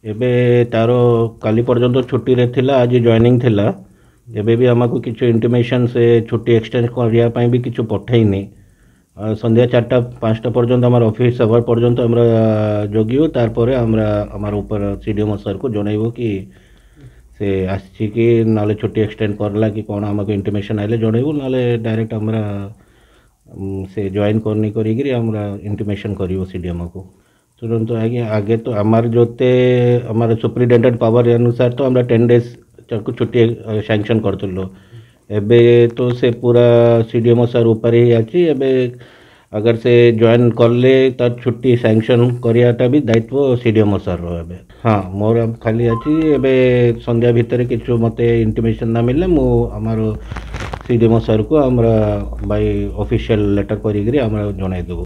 ଏବେ ତାର କାଲି ପର୍ଯ୍ୟନ୍ତ ଛୁଟିରେ ଥିଲା, ଆଜି ଜଏନିଂ ଥିଲା। ଏବେ ବି ଆମକୁ କିଛି ଇଣ୍ଟିମେସନ୍ ସେ ଛୁଟି ଏକ୍ସଟେଣ୍ଡ କରିବା ପାଇଁ ବି କିଛି ପଠେଇନି। ସନ୍ଧ୍ୟା 4ଟା 5ଟା ପର୍ଯ୍ୟନ୍ତ ଆମର ଅଫିସ୍ ଆୱାର ପର୍ଯ୍ୟନ୍ତ আমরা ଜଗିବୁ। ତାରପରେ আমরা আমার ଉପର ସିଡିଏମଓ ସାର୍କୁ ଜଣେଇବୁ କି ସେ ଆସିଛି କି ନହେଲେ ଛୁଟି ଏକ୍ସଟେଣ୍ଡ କରିଲା କି କ'ଣ, ଆମକୁ ଇଣ୍ଟିମେସନ୍ ଆଇଲେ ଜଣେଇବୁ। ନହେଲେ ଡାଇରେକ୍ଟ আমরা ସେ ଜଏନ୍ କରିନି କରିକିରି আমরা ଇଣ୍ଟିମେସନ୍ କରିବୁ ସିଡିଏମଓକୁ ତୁରନ୍ତ। ଆଜ୍ଞା, ଆଗେ ତ আমার ଯେତେ আমার ସୁପ୍ରିଟେଣ୍ଡେଣ୍ଟ ପାୱାର ଅନୁସାରେ ତ আমরা 10 ଡେଜ୍ ତାକୁ ଛୁଟି ସାଙ୍କସନ୍ କରିଥିଲୁ। ଏବେ ତ ସେ ପୁରା ସିଡିଏମଓ ସାର୍ ଉପରେ ହିଁ ଅଛି। ଏବେ ଅଗର ସେ ଜଏନ୍ କଲେ ତାର ଛୁଟି ସାଙ୍କସନ୍ କରିବାଟା ବି ଦାୟିତ୍ୱ ସିଡିଏମଓ ସାର୍ର ଏବେ। ହଁ, ମୋର ଖାଲି ଅଛି, ଏବେ ସନ୍ଧ୍ୟା ଭିତରେ କିଛି ମୋତେ ଇଣ୍ଟିମେସନ୍ ନ ମିଳିଲେ ମୁଁ ଆମର ସିଡିଏମଓ ସାର୍କୁ ଆମର ବାଇ ଅଫିସିଆଲ ଲେଟର୍ କରିକିରି ଆମର ଜଣାଇଦେବୁ।